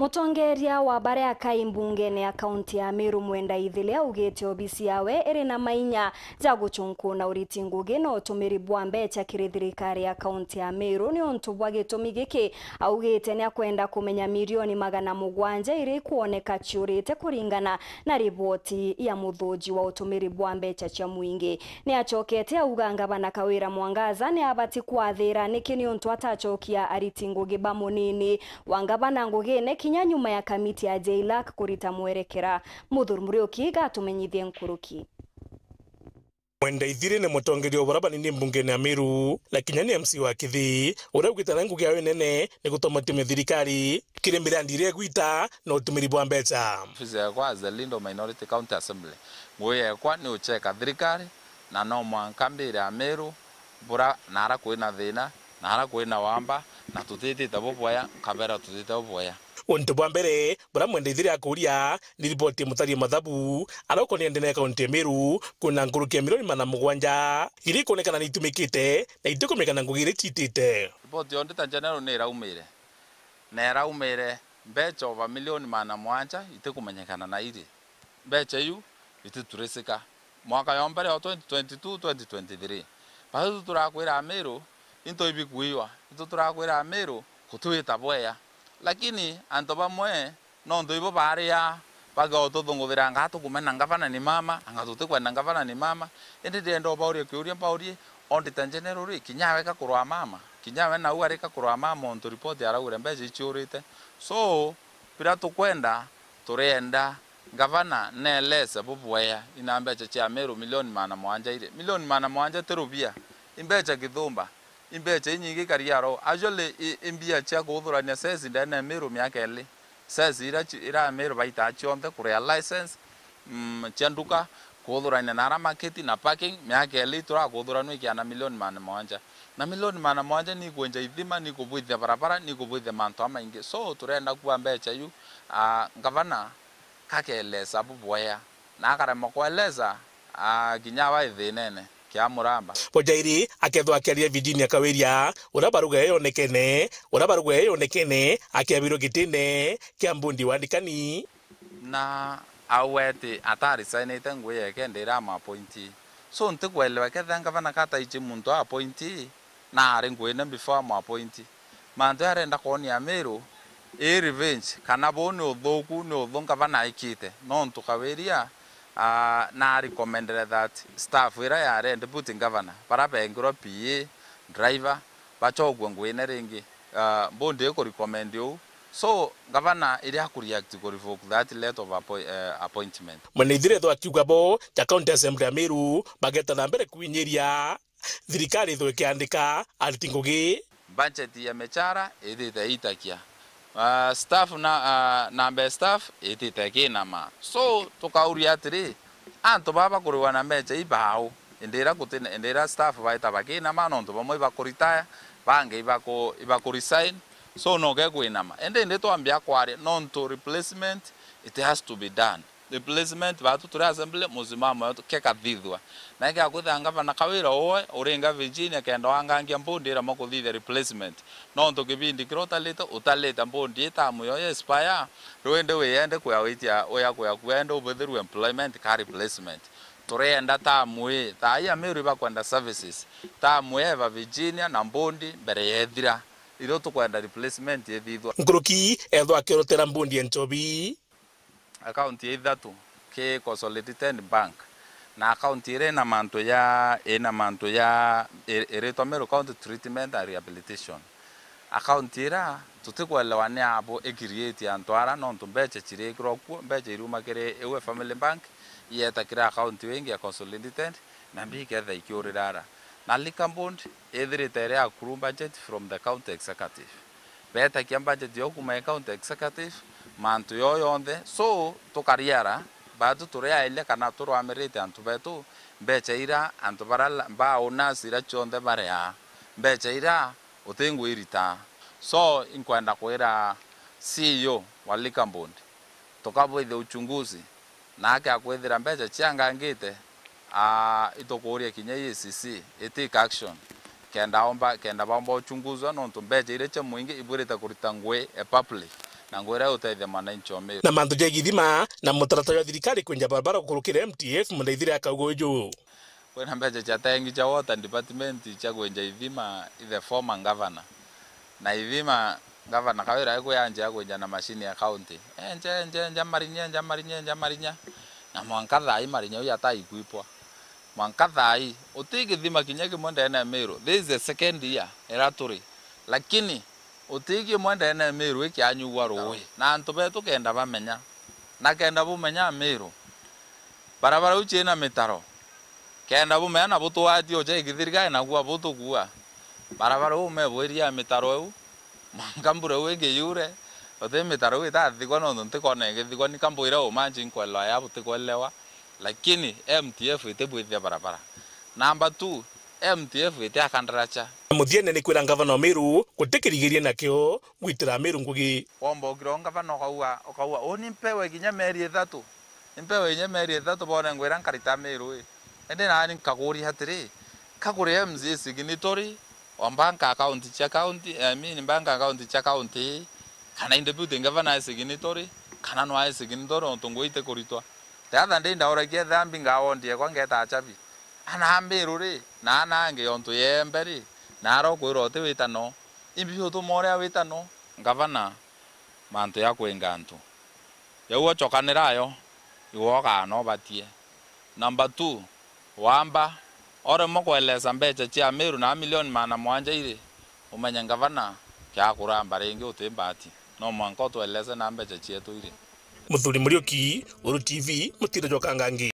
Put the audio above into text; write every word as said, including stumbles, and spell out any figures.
Mutongeria wa baria akai mbungene ya kaunti ya Meru Mwenda Ithiri augite obisi yawe iri na mainya ja guchunkuna uriti ngugi na utumiri bwa mbecha kiri thirikari ya kaunti ya Meru. Niuntu bwa gitumi giki, augite ni akwenda kumenya milioni magana mugwanja iria ikwoneka ciurite kuringana na riboti ya muthuji wa utumiri bwa mbecha cia mwingi. Ni acokete auga ngavana Kawira Mwangaza ni abati kwathira niki niuntu atacokia ariti ngugi ba munini wa ngavana ngugine kinya nyuma ya kamiti ya JLAC kurita mwerekera. Muthuri Muriuki gatumenyithie nkuruki. Mwenda Ithiri ni mutongeria wa baria banini mbungene ya Meru, na kinya ni M C wa Kithii, uria augite na ngugi yawe nene ni gutuma utumia thirikari kiri mirandi iria igwita na utumiri bwa mbecha. Ofisi yakwa as the leader of minority county assembly, ngugi yakwa ni ucheka thirikari, na no mwanka mbire Ameru bura nara kwina thina, nara kwina wamba, na tutitite bubwaya, nkabera tutitite bubwaya. Untu bwa mbere buria Mwenda Ithiri akuria ni riboti ya mutari mathabu aria ukonie ndene ya kaunti ya Meru, kwina nkuruki ya milioni magana mugwanja iria ikwonekana ni itumikite na itikumika na ngugi iria iciitite. Riboti ya Auditor General ni iraumire, na iraumire mbecha over milioni magana mugwanja itikumenyekana na iri. Mbecha iu ititurisika. Mwaka yo mbere yo twenty twenty-two, twenty twenty-three, batu turakwira Ameru into ibikuiwa, into turakwira Ameru kutwita bweya. Lakini antu bamwe nontu ibo baria bagotuthunguthira, anga tukumena ngavana ni mama, anga tutikwenda ngavana ni mama. Indi ndienda ubauria kiuria mbaurie, Auditor General ri, kinya we ka kurwa mama, kinya we nau ari ka kurwa mama, ontu ripoti araugire mbecha iciurite. So, biria tukwenda, turienda ngavana neelese bubwea ina mbecha cia Meru milioni magana mugwanja iri. Milioni magana mugwanja ti rubia, i mbecha kithumba, i mbecha inyingi kariaro. Actually, i, i mbia cia kuuthurania cess ndene ya Meru miaka ili. Cess ira ci-, ira Meru baitaa cionthe, kuria license, mm, cia nduka, kuuthurania na ara market na parking, miaka ili turakuthuranua ikiana milioni magana mugwanja. Na milioni magana mugwanja ni ikwenja ithima, ni ikubwithia barabara, ni ikubwithia mantu jamaingi. So, turenda kuuga mbecha iu, ah, ngavana kakeelesa bubwea, na akaremwa kweelesa, ah, kinya aba ithinene kia muramba. Bojairi akethwa akiaria Virginia Kawiria, uria baruga iyo yonekene, uria baruga iyo yonekene akiabirwe gitine kia mbundi wa ndikani. Na auga ati ataresignite ngugi yake ndira ama appointee. So, ntikwelewa kethira ngavana kataichi muntu a appointee na ari nguine before ama appointee. Mantu arenda kwonia Meru, ii revenge, kana buu ni uthuku, ni uthu ngavana aikite. Nontu Kawiria, ah, na recommendere that staff ira yari deputy governor, bara bengirwe P A, driver, bachokue nguine ringi. Ah, mbundi ikurecommend uu. So, ngavana iria akureact ku revoke that letter of appoint-, eh, appointment. Mwene Ithiri ethwa akiuga bo ja County Assembly ya Meru bageta na mbere kwinyiria thirikari ithwe ikiandika ariti ngugi. Budget ya michara ithite itakia. Ah, staff na, ah, namba ya staff itite kinama. So, tukauria atiri, antu baba kuriwa na mbecha ibau? Indi ira guti-, indi ira staff baita bakinama, nontu bamwe ibakuretire, bangi ibaku-, ibakuresign. So, no gekwinama. Indi, indi twambia kwaria, nontu replacement, it has to be done. Replacement, batu turi assembly, muzimamo wetu kekathithua. Na ikiakwithira ngavana Kawira uwe, uringa Virginia, kenda wangangia mbundi ira makuthithia replacement. Nontu kibindi kiria utalite, utalite mbundi itamu yo ya expire, riu indi wiyende kuya witia, uya kuya kuende ubithirwe employment ka replacement. Turienda tamu ii, thaa ii Ameru ibakwenda services. Tamu ii eba Virginia na mbundi mbere yethira. Irio tukwenda replacement ithithwa. Nkuruki ethwa akirotera mbundi ya nchobi. Account ya ithatu ki Consolidated Bank, na account iria ina mantu ya, ina mantu ya, i-, iritwa Meru County Treatment and Rehabilitation. Account ira tutikwelewa ni abu i create antu ara, nontu mbecha cirikirwa kuo, mbecha iriuma kiri iwe Family Bank, ieta kiri account iu ingi ya Consolidated, na mbia iketha ikiurira ara. Na Liquor Board ithirite iri accrue budget from the county executive. Betakia budget yo kuma county executive, mantu yo yonthe. So, tukariara, batu turiairia kana turwamirite antu betu, mbecha ira antu bara la-, ba owners ira cionthe bariaa, mbecha ira utingwirita. So, inkwenda kwira C E O wa Liquor Board, tukabwithia uchunguzi, na akia kwithira mbecha ciangangite, aa, itukuuria kinya E A C C itake action, kenda omba, kenda baomba uchunguzwa, nontu mbecha iria cia mwingi ibwirite kurita ngui e public, Na ngwira utethia mwananchi o Meru. Na mantu ja ithima na mutaratara jwa thirikari kwenja barabara gukurukira M T F, Mundaithiri akauga uju. Kwina mbeca cia tengi cia water department cia kwenja ithima i the former governor. Na ithima governor Kawira akwija anjia kwenja na mashini ya county. Enja, enja, enja marinya, enja marinya, enja marinya. Na mwanka thaa ii marinya uyu ataikwipwa. Mwanka thaa ii, uti githima kinya kimwe ndene ya Meru. This is the second year ira turi. Lakini, uti kimwe ndene ya Meru ikianyugwa ruui. Na antu betu kenda bamenya. Na kenda bumenya Meru. Barabara iu ciina mitaro. Kenda bumenya na butwatie uja ikithirika na kuua butukua. Barabara iu mebwiria mitaro iu. Mwanka mbura iu ingi yure. Uti mitaro iu itathikwa nontu ntikona igithikwa. Ni kambwira umanji nkwelewa ya butikwelewa. Lakini M T F itibwithia barabara. Number two, M T F iti akandaracha. Na muthiene ni kwira ngavana wa Meru gutikirigiria nakio gwitira Meru ngugi. Womba ukira ngavana ukauga, ukauga, uni mpewe kinya mieri ithatu. Ni mpewe kinya mieri ithatu bone ngwira nkarita Meru ii. Indi nani nkakuria atiri, ka kuri M C A signatory, wa bank account cia county, I mean bank account cia county, kana i deputy governor e signatory, kana no ae signatory nontu ngugi itikuritwa. The other day ndauragia etha mbinga wondi ekwa ngeta achabi. Ana Meru ri, na ana angi ontu yembe ri, na ara ukwirwa uti witano. Imbi utuma uria witano, ngavana, mantu ya kwinga antu. Jau ochokanira ayo, iwe ukaana ubatie. Number two, wamba, oremwa kwelesa mbeca cia Meru na milioni magana mwanja iri, umenye ngavana, kia kuramba ringi uti mbati. No mwanka utwelese na mbeca cietu iri. Muthuri Muriuki, Uru T V, mutiro jwa Kangangi.